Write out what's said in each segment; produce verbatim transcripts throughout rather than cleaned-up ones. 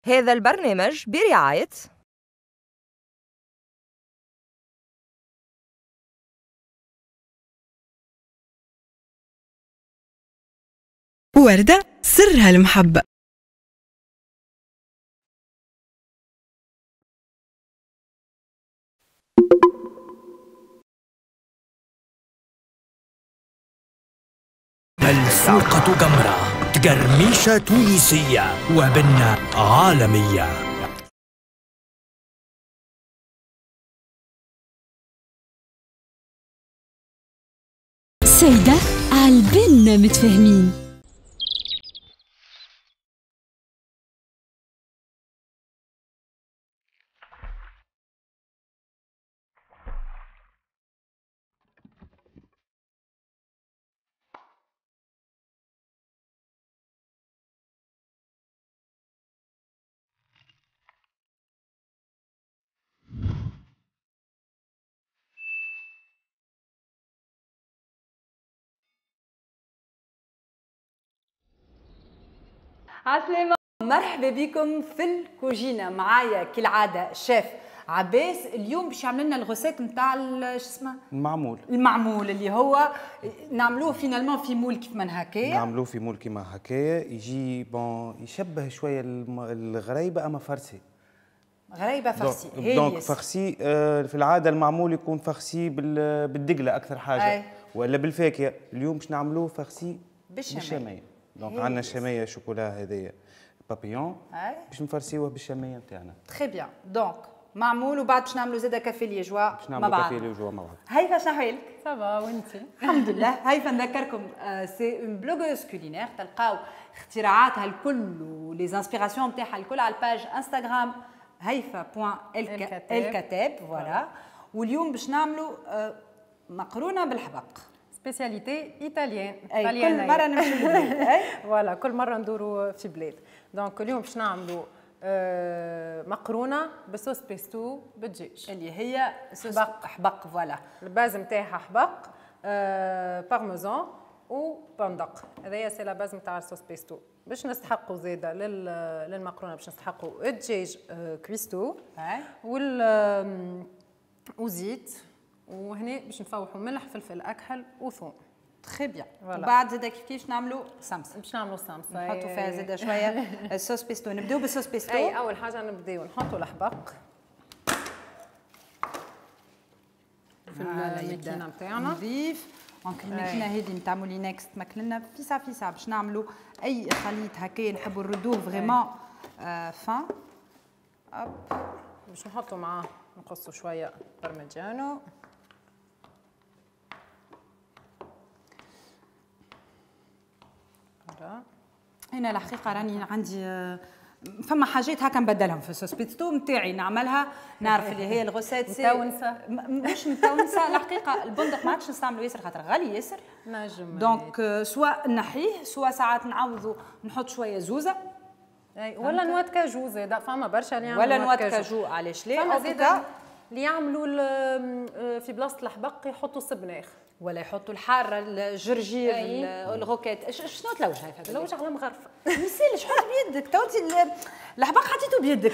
هذا البرنامج برعاية وردة سرها المحبة. السوقة جمرة، تقرميشة تونسية وبنة عالمية. سيدة عالبنا متفاهمين. عسلامة، مرحبا بكم في الكوجينة. معايا كالعادة شيف عباس. اليوم باش يعمل لنا ال recette نتاع شو اسمه؟ المعمول. المعمول اللي هو نعملوه finalement في moule كيف ما هكايا. نعملوه في moule كيما هكايا، يجي bon يشبه شوية الغريبة اما farcie. غريبة farcie. donc farcie آه في العادة المعمول يكون farci بالدقلة أكثر حاجة. أي. ولا بالفاكهة. اليوم باش نعملوه farci بالشامية. donc عندنا شامية شوكولا هذايا بابيون باش نفرسيوه بالشاميه نتاعنا. très bien. donc معمول وبعد باش نعملوا زاده café liégeois باش نعملوا café liégeois مع بعض. هيفا شنو احوالك؟ ça va وانت؟ الحمد لله. هيفا نذكركم c'est une blogueuse culinaire، تلقاو اختراعاتها الكل و les inspirations نتاعها الكل على ال page انستغرام هيفا point الكتاب. voilà. واليوم باش نعملوا مقرونة بالحبق، spécialité italienne. اي كل مرة نمشيو لبلاد. voilà كل مرة ندوروا في بلاد. donc اليوم باش نعملوا آه مقرونة ب sauce pesto بالدجاج اللي هي صوص حبق. حبق voilà. ال base نتاعها حبق آه بارميزان وبندق. هذايا c'est la base نتاع ال sauce pesto. باش نستحقوا زاده للمقرونه باش نستحقوا الدجاج آه cuisseau وال وزيت، وهنا باش نفوحوا ملح فلفل اكحل وثوم. très bien. وبعد زاده كيف كيف نعملوا صمصه. باش نعملوا صمصه نحطوا فيها زاده شوية ال sauce pesto. نبداو بال sauce pesto. اي اول حاجة نبداو نحطوا الحبق في الماكينة نتاعنا نظيف. donc الماكينة هذه نتاع Moulinex تمكن فيسع فيسع باش نعملوا اي خليط هكايا نحبوا نردوه vraiment fin. hop باش نحطوا معاه نقصوا شوية parmigiano. هنا الحقيقة راني عندي فما حاجات هكا نبدلهم في ال sauce pesto نتاعي نعملها، نعرف اللي هي ال recette متونسه. مش متونسه الحقيقة. البندق ما عادش نستعملو ياسر خاطر غالي ياسر. نجم donc soit نحيه soit ساعات نعوضو نحط شوية زوزه. اي ولا noix de cajou زاده، فما برشا اللي يعملوا ولا noix de cajou. علاش لا؟ فما زاده اللي يعملوا في بلاصة الحبق يحطوا السبناخ ولا يحطوا الحارة الجرجير ال roquette. شنو تلوج هاي؟ تلوج على مغرفه. ما يسالش حط بيدك تو انت الحبق حطيته بيدك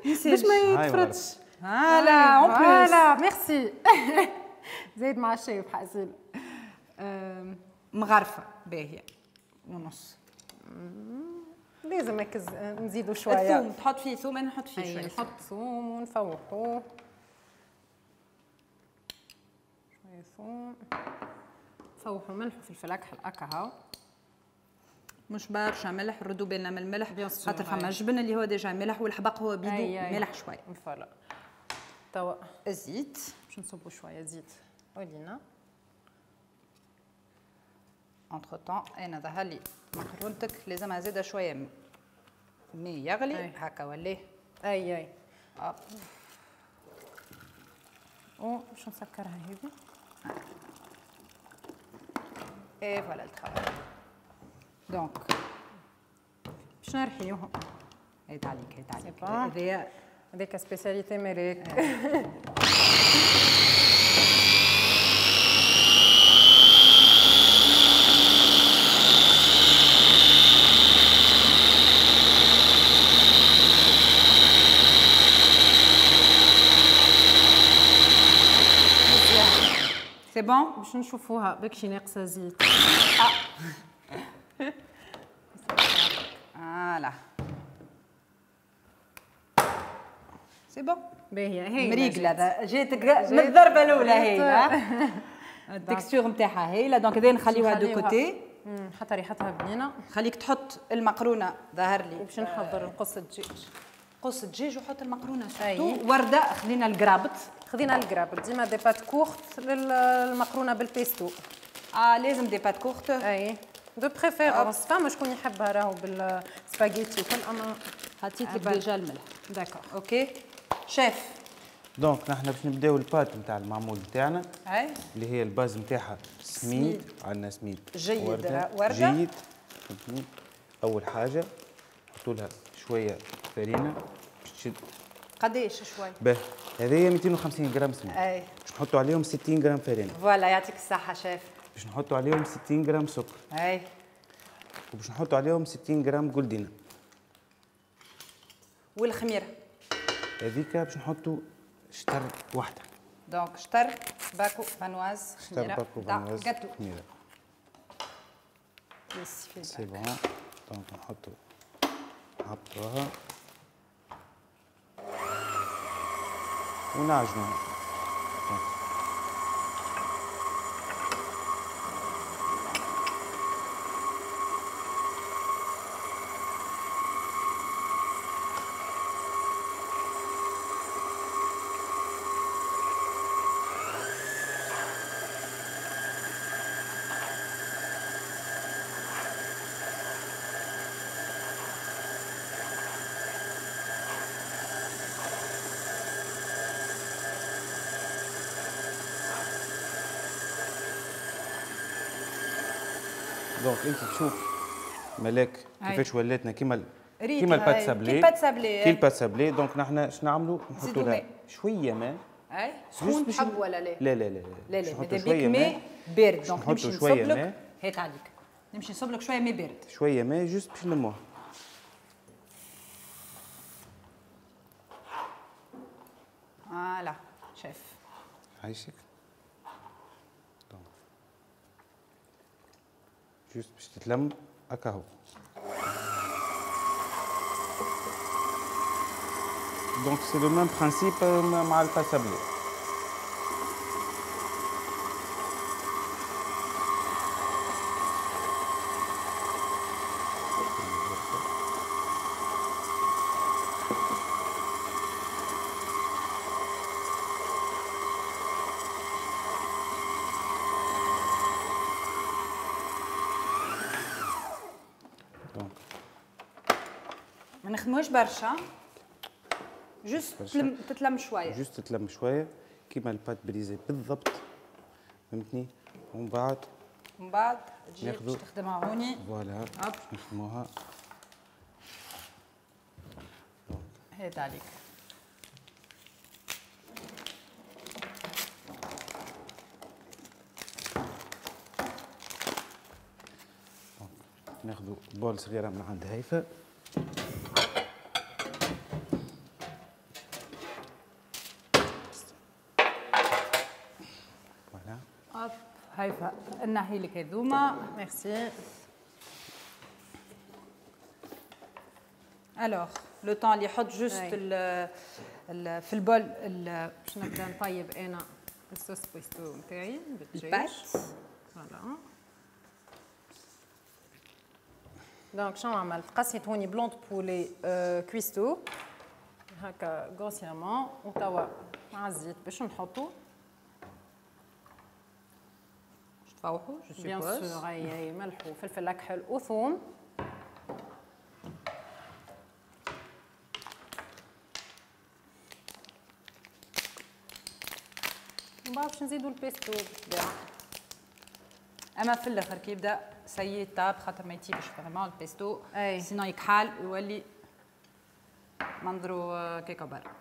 باش ما يتفرطش. voilà en plus. voilà merci. زايد مع الشاي حاسين. مغرفه باهيه ونص. لازم نزيدوا شوية الثوم. تحط فيه ثوم؟ انا نحط فيه شوية. نحط ثوم ونفوحوه شوية ثوم، نفوحوا ملح وفلفل اكحل هكا هاو. مش برشا ملح، ردوا بالنا من الملح خاطر فما جبن اللي هو déjà ملح والحبق هو بيدو ملح شوية. voilà. توا الزيت باش نصبوا شوية زيت ولينا. entre-temps انا ظهر لي مقرونتك لازمها زاده شوية مي يغلي هكا ولا اي اي. hop و باش نسكرها هذه. et voilà le travail. donc باش نرحيوهم. هيت عليك هيت عليك. هذايا هذيك spécialité مالك. bon باش نشوفوها بكشي ناقصه زيت. voilà c'est bon. باهيه هي مريقله جاتك من الضربة الاولى هي ال texture نتاعها هايلة. donc هذا نخليوها de côté حتى ريحتها بنينه. خليك تحط المقرونه ظهر لي باش نحضر نقص الدجاج. قص الدجاج وحط المقرونه surtout. ورده خذينا القرابط، خذينا القرابط ديما des pâtes courtes للمقرونه بالبيستو. اه لازم des pâtes courtes. اي de préférence فما شكون يحبها راهو بالسباغيتي وكل، اما حطيت لك déjà الملح. d'accord OK chef. donc نحن باش نبداو ال pâte نتاع المعمول نتاعنا اي اللي هي ال base نتاعها سميد. عندنا سميد جيد ورده, وردة. جيد. اول حاجة نحطوا لها شوية فرينه باش تشد. قداش شوية؟ باهي هذه مئتين وخمسين غرام سميد. اي باش نحطوا عليهم ستين غرام فرينه. voilà يعطيك الصحة شيف. باش نحطوا عليهم ستين غرام سكر. اي وباش نحطوا عليهم ستين غرام جولدينا. والخميره هذيك باش نحطوا شطر واحدة. donc شطر باكو فانواز خميره. شطر باكو فانواز خميره. c'est bon. donc نحطوا نحطوها ونعجنوها. donc انت تشوف ملاك كيفاش ولاتنا كيما كيما ال pâte sablée. كي ال pâte sablée كي ال pâte sablée. donc نحن اش نعملوا؟ نحطوا لها شوية ماء. اي سخون تحب ولا لا؟ لا لا لا لا لا ماذا بيك ماء بارد. donc نمشي نصب لك هات عليك نمشي نصب لك شوية ماء بارد. شوية ماء juste باش نلموها. voilà chef عايشك. juste باش تتلم هكا هو. donc c'est le même principe مع ال pâte sablée. ما نخدموش برشا، juste تلم تتلم شوية. juste تتلم شوية كيما ال pâte brisée بالضبط، فهمتني؟ ومن بعد ومن بعد تجي باش تخدمها هوني. voilà باش نخدموها. هات عليك. ناخذ bol صغيرة من عند هيفا. voilà hop هيفا نحي لك هذوما. merci. alors le temps اللي يحط juste في ال bol باش نبدا نطيب انا ال sauce pesto نتاعي بالدجاج. voilà donc شنو عملت؟ قصيت هوني blanc de poulet cuistot هكا grossièrement، وتوا مع الزيت باش نحطو باش تفوحو je suppose. bien sûr اي ملح وفلفل اكحل وثوم. ومن بعد باش نزيدو البيستو بالطبيعة. اما في الاخر كي يبدا ça y est طاب خاطر ما يطيبش vraiment ال pesto، sinon يكحال ويولي منظرو كيكا برا.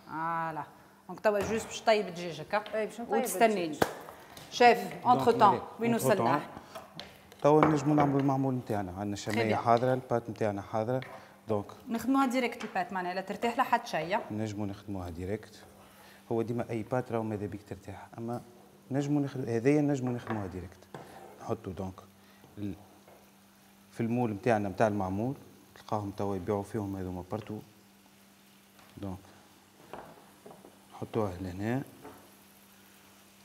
voilà donc توا juste باش طيب دجاجك اي باش نطيب وتستنيني chef. entre-temps وين وصلنا؟ توا نجمو نعملو المعمول نتاعنا. عندنا الشمية حاضره، ال pâte نتاعنا حاضره، donc نخدموها direct ال pâte معناها لا ترتاح لا حتى شيء. نجمو نخدموها direct. هو ديما اي pâte راهو ماذا بيك ترتاح، اما نجمو نخدم هذايا، نجمو نخدموها direct. نحطو donc في ال moule نتاعنا نتاع المعمول، تلقاهم توا يبيعوا فيهم هذوما partout. donc نحطوها لهنا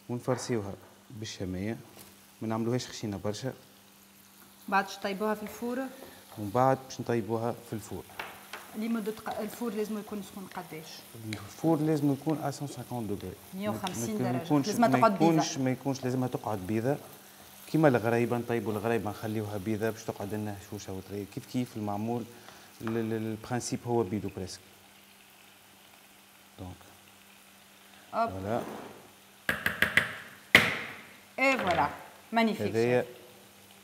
ونفرسيوها بالشمية، ما نعملوهاش خشينة برشا. بعد باش طيبوها في ال four، ومن بعد باش نطيبوها في ال four. لمدة ال four لازم يكون سخون قداش؟ ال four لازم يكون مية وخمسين degrés، مية وخمسين درجة. لازم تقعد بيضة، ما يكونش لازمها تقعد بيضة كيما الغريبة، نطيبوا الغريبة نخليوها بيضة باش تقعد لنا هشوشة وطرية. كيف كيف المعمول ال principe هو بيدو presque. donc voilà et voilà magnifique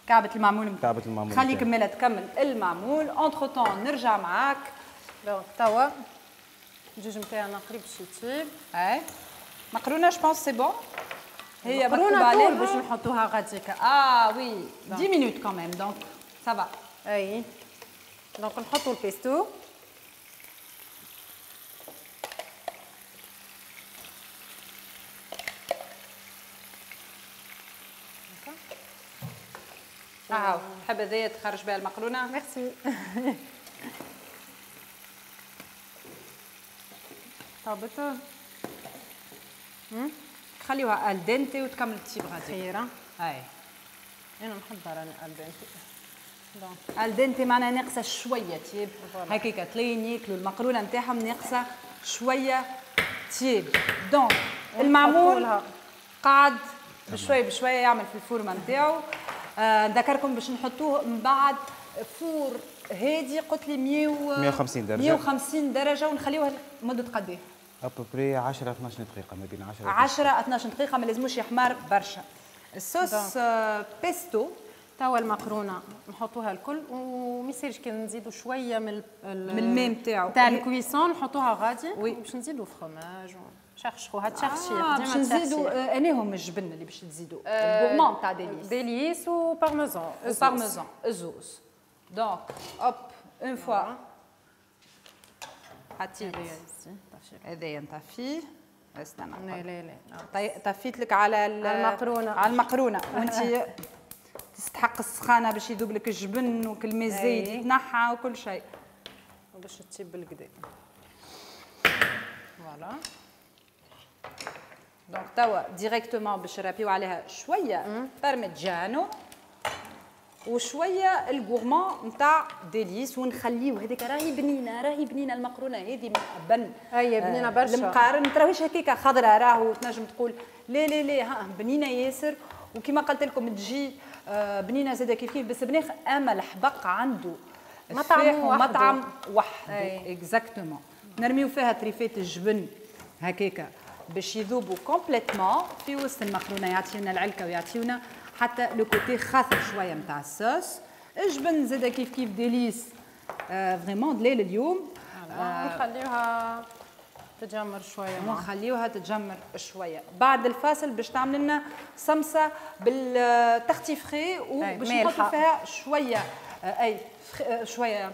كعبة المعمول. كعبة المعمول خليك مالا تكمل المعمول، entre-temps نرجع معاك. donc توا الدجاج نتاعنا قريب باش يطيب. اي مقرونة je pense c'est bon، هي مقرونة طول باش نحطوها غاديكا. اه oui dix minutes quand même donc ça va. اي donc نحطو البيستو. هاو تحب هذايا تخرج بها المقرونه؟ ميرسي. طابت خليوها al dente وتكمل تطيب غادي. خيره. اي انا نحب راني al dente. donc al dente معناها ناقصه شوية تيب، هكاك تلين ياكلوا المقرونه نتاعهم ناقصه شوية تيب. donc المعمول قعد بشوية بشوية يعمل في الفورمة نتاعو. آه نذكركم باش نحطوه من بعد four هادي، قلت لي مية وخمسين درجه، مية وخمسين درجه، ونخليوها لمدة قد ايه؟ à peu près عشرة اثناش دقيقة، ما بين عشرة عشرة اثناش دقيقة، ما لازموش يحمر برشا. الصوص آه بيستو. توا المقرونه نحطوها الكل، وما يصيرش كي نزيدوا شوية من من الماء نتاعو تاع ال cuisson نحطوها غادي باش نزيدوا فروماج شخشخوها تشخشيخ. آه باش نزيدوا اناهم الجبن اللي باش تزيدوا ال gourmand تاع Délice، Délice و parmesan، و parmesan الزوز. donc hop une fois حطيت هذايا نطفيه. استنى لا لا لا طفيت لك على المقرونه، على المقرونه، وانت تستحق السخانه باش يذوب لك الجبن وكل ما الزيت يتنحى وكل شيء باش تطيب بالكدا. voilà donc توا directement باش نرابيو عليها شوية بارميجانو وشوية ال gourmand نتاع Délice، ونخليو هذيك راهي بنينه، راهي بنينه المقرونه هذه من بن. اي بنينه برشا. المقارن تراويش هكاك خضراء راهو تنجم تقول لا لا لا ها بنينه ياسر. وكما قلت لكم تجي بنينه زاده كيف كيف بالسبناخ، اما الحبق عنده مطعم ومطعم وحده exactement. نرميو فيها تريفات الجبن هكاكا باش يذوبوا complètement في وسط المقرونه، يعطيونا العلكه ويعطيونا حتى le côté خاثر شوية نتاع الصوص. الجبن زاده كيف كيف Délice آه vraiment دليل اليوم. آه نخليوها تتجمر شوية، ونخليوها تتجمر شوية بعد الفاصل باش تعمل لنا صمصه بال Tartifrée، وباش نحطوا فيها شوية اي شوية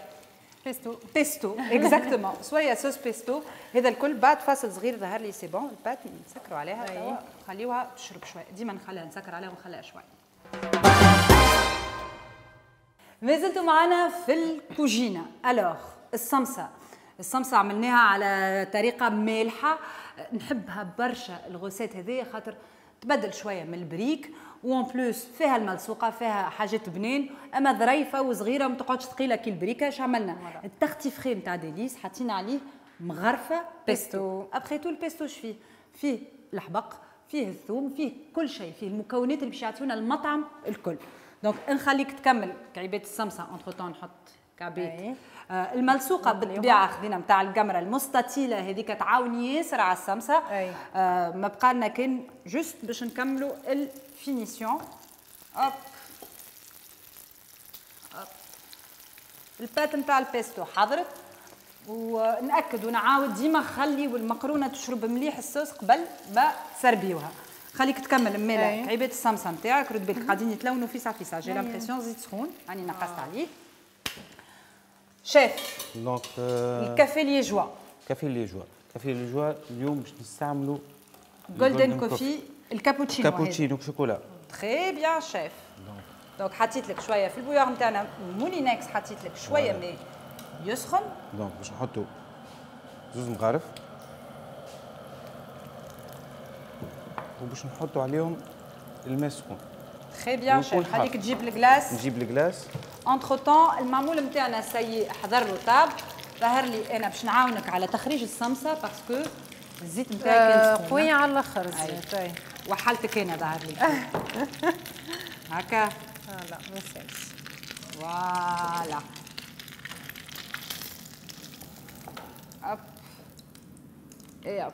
pesto، pesto exactement شوية sauce pesto. هذا الكل بعد فاصل صغير. ظهر لي c'est bon ال pâte نسكروا عليها توا، نخليوها تشرب شوية. ديما نخليها نسكر عليها ونخليها شوية. مازلتوا معنا في الكوجينه. alors الصمصه، الصمصه عملناها على طريقه مالحة، نحبها برشا ال recette هذه خاطر تبدل شوية من البريك، و en plus فيها الملسوقه فيها حاجات بنين، اما ظريفة وصغيره وما تقعدش ثقيلة كي البريكه. اش عملنا؟ ال Tartifrée نتاع Délice حطينا عليه مغرفه pesto. après tout ال pesto اش فيه؟ فيه الحبق، فيه الثوم، فيه كل شيء، فيه المكونات اللي باش يعطيونا المطعم الكل. donc نخليك تكمل كعبات الصمصه، entre-temps نحط كعبات آه الملسوقه بالطبيعة خذينا نتاع القمره المستطيله هذيك تعاون ياسر على الصمصه. آه ما بقى لنا كان juste باش نكملوا ال finition. hop hop ال pâte نتاع البيستو حضرت، ونأكد ونعاود ديما خلي والمقرونه تشرب مليح الصوص قبل ما تسربيوها. خليك تكمل مالا كعيبات الصمصه نتاعك، رد بالك قاعدين يتلونوا فيسع فيسع، j'ai l'impression زيت سخون راني نقصت عليه. chef donc ال café liégeois، café liégeois، café de joie اليوم باش نستعملوا Golden Coffee الكابوتشينو. كابوتشينو chocolat. très bien chef. donc حطيت لك شوية في ال bouilloire نتاعنا Moulinex، حطيت لك شوية ماء يسخن. donc باش نحطوا زوز مغارف وباش نحطوا عليهم الماء السخون. très bien chef. خليك تجيب ال glace. نجيب ال glace. entre-temps المعمول نتاعنا ça y est حضر له طاب. ظهر لي انا باش نعاونك على تخريج الصمصه parce que الزيت نتاعي كان سخون قوي على الاخر الزيت. وحالتك انا ظهر لي هكا. لا ما يسالش. voilà hop et hop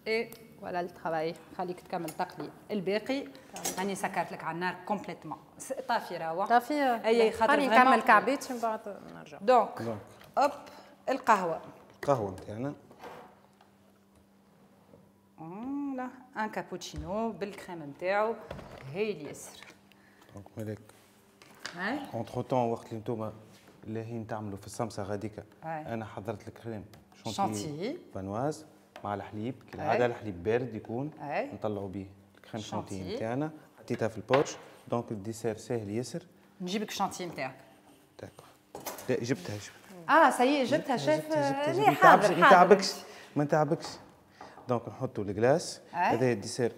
et voilà le travail. خليك تكمل تقلي الباقي. راني سكرت لك على النار complètement. طافي راهو طافي. اي خاطر خليني نكمل كعبيتي من بعد نرجع. donc hop القهوة. القهوة نتاعنا voilà un cappuccino بال crème نتاعو هايل ياسر. donc مالك entre-temps وقت اللي انتوما لاهين تعملوا في الصمصه غاديكا انا حضرت ال crème chantilly viennoise مع الحليب كالعادة. الحليب بارد يكون نطلعوا به ال crème chantilly نتاعنا. حطيتها في ال poche. donc ال dessert ساهل ياسر. نجيبك شانتي نتاعك. d'accord. لا جبتها جبتها. اه ça y est جبتها شيف. لا حاضر ما نتعبكش ما نتعبكش. donc نحطوا ال glace. هذا ال dessert.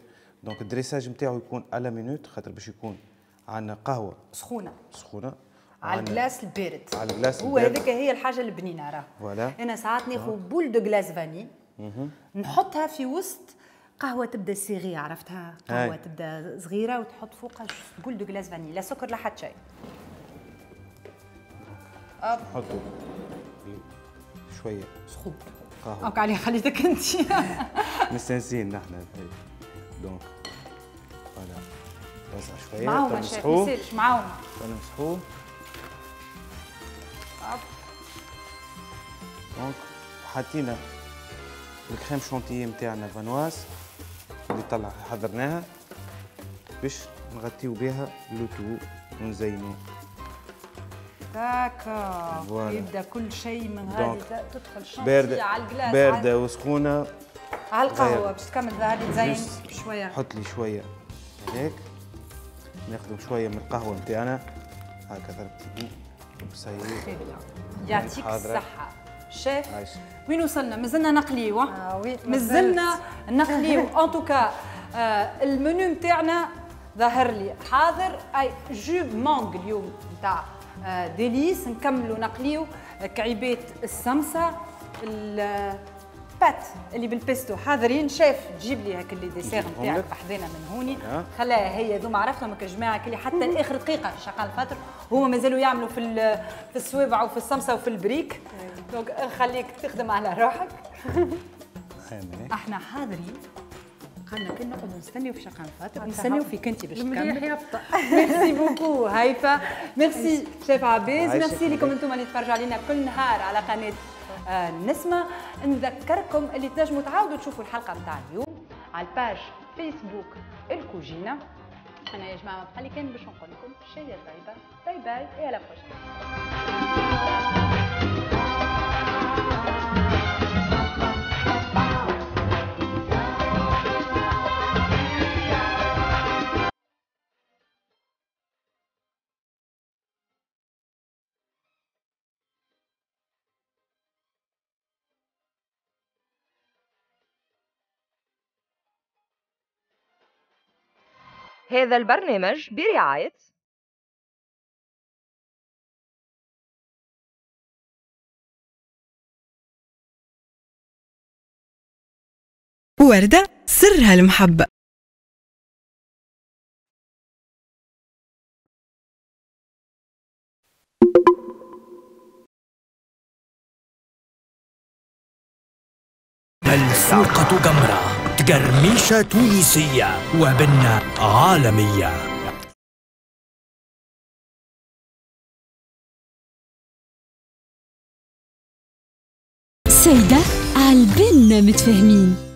donc ال dressage نتاعو يكون à la minute خاطر باش يكون عندنا قهوة سخونة سخونة على ال glace البارد. على ال glace هو هذيك هي الحاجة البنينه راه. voilà انا ساعات ناخذ boule de glace vanille نحطها في وسط قهوة تبدا serrée، عرفتها؟ قهوة تبدا صغيرة وتحط فوقها boule de glace vanille، لا سكر لا حتى شيء. نحطوا شوية سخون قهوة. donc علي خليتك انت. مستانسين نحن. donc voilà وزع شوية. معاهم ما يصيرش معاهم. نمسحوه. donc حطينا ال crème chantilly نتاعنا فانواز اللي طلع حضرناها باش نغطيو بها le tout ونزينو. d'accord. يبدا كل شيء من غادي تدخل شانتي باردة على ال glace باردة وسخونه على القهوة باش تكمل ظهر لي تزين شوية. حط لي شوية هيك، ناخذ شوية من القهوة نتاعنا هكا ضربتي بسيط. يعطيك الصحة شيف. وين وصلنا؟ مازلنا نقليو. آه oui مازلنا نقليو. en tout cas ال menu نتاعنا ظهر لي حاضر. اي jus mangue اليوم نتاع Délice. نكملوا نقليو كعيبات السمسه ال pâtes اللي بالبيستو حاضرين. شيف تجيب لي هاك les desserts نتاعك بحذانا من هوني. خلاها هي ذوما عرفتهم هكا جماعة اللي حتى لاخر دقيقة في شقال الفطر هما مازالوا يعملوا في في السوابع وفي السمسه وفي البريك. donc نخليك تخدم على روحك. احنا حاضرين قالنا كنا نقعدوا نستنيو في شقان الفطر، نستنيو فيك انت باش تكمل. merci beaucoup هيفا، merci chef عباس، ميرسي لكم انتم اللي تفرجوا علينا كل نهار على قناة آه نسمه. نذكركم اللي تنجموا تعاودوا تشوفوا الحلقة نتاع اليوم على ال page فيسبوك الكوجينه. انا يا جماعة ما بقى لي كان باش نقول لكم شيء طيبة. bye bye et à la prochaine. هذا البرنامج برعاية وردة سرها المحبة. ملسوقة جمرة، تقرميشة تونسية وبنة عالمية. سيدة عالبنة متفاهمين.